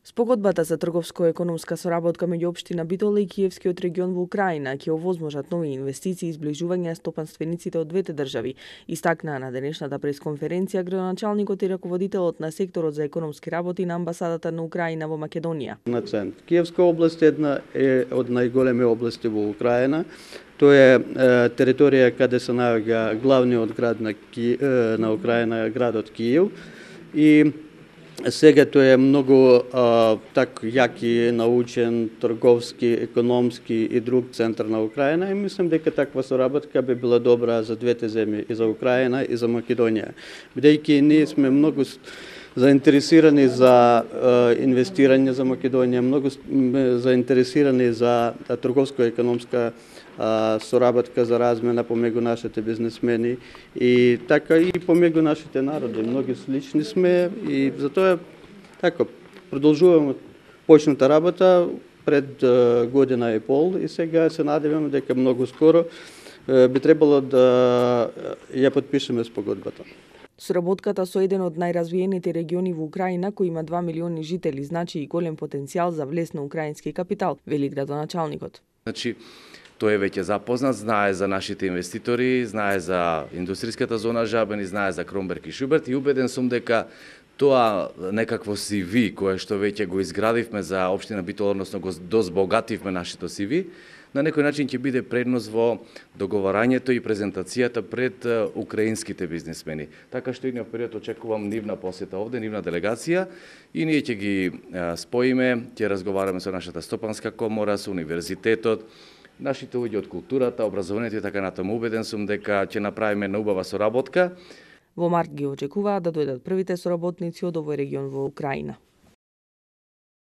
Спогодбата за трговско-економска соработка меѓу општина Битола и Киевскиот регион во Украина ќе овозможат нови инвестиции и изближување стопанствениците од двете држави, истакнаа на денешната пресконференција градоначалникот и раководителот на секторот за економски работи на амбасадата на Украина во Македонија. На цент. Киевска област е од најголеми области во Украина. Тоа е територија каде се наоѓа главниот град на Украина, градот Киев. И сега тоа е многу јак и научен, трговски, економски и друг центар на Украина и мислам дека таква соработка би била добра за двете земји, и за Украина и за Македонија. Бидејќи ние сме многу заинтересирани за инвестирање за Македонија, многу заинтересирани за трговско-економска соработка за размена помеѓу нашите бизнесмени и така и помеѓу нашите народи. Многи слични сме и затоа така продолжуваме почната работа пред година и пол и сега се надеваме дека многу скоро би требало да ја подпишеме спогодбата. Соработката со еден од најразвиените региони во Украина, кој има 2 милиони жители, значи и голем потенцијал за влез на украински капитал, вели градоначалникот. Значи, тој е веќе запознат, знае за нашите инвеститори, знае за индустријската зона Жабен, знае за Кромберг и Шуберт и убеден сум дека тоа некакво CV кое што веќе го изградивме за општина Битола, односно го дозбогативме нашето CV, на некој начин ќе биде предност во договарањето и презентацијата пред украинските бизнесмени. Така што идниот период очекувам нивна посета овде, нивна делегација и ние ќе ги споиме, ќе разговараме со нашата стопанска комора, со универзитетот, нашите луѓе од културата, образованието и така натаму. Убеден сум дека ќе направиме една убава соработка. Во март ги очекуваат да дојдат првите соработници од овој регион во Украина.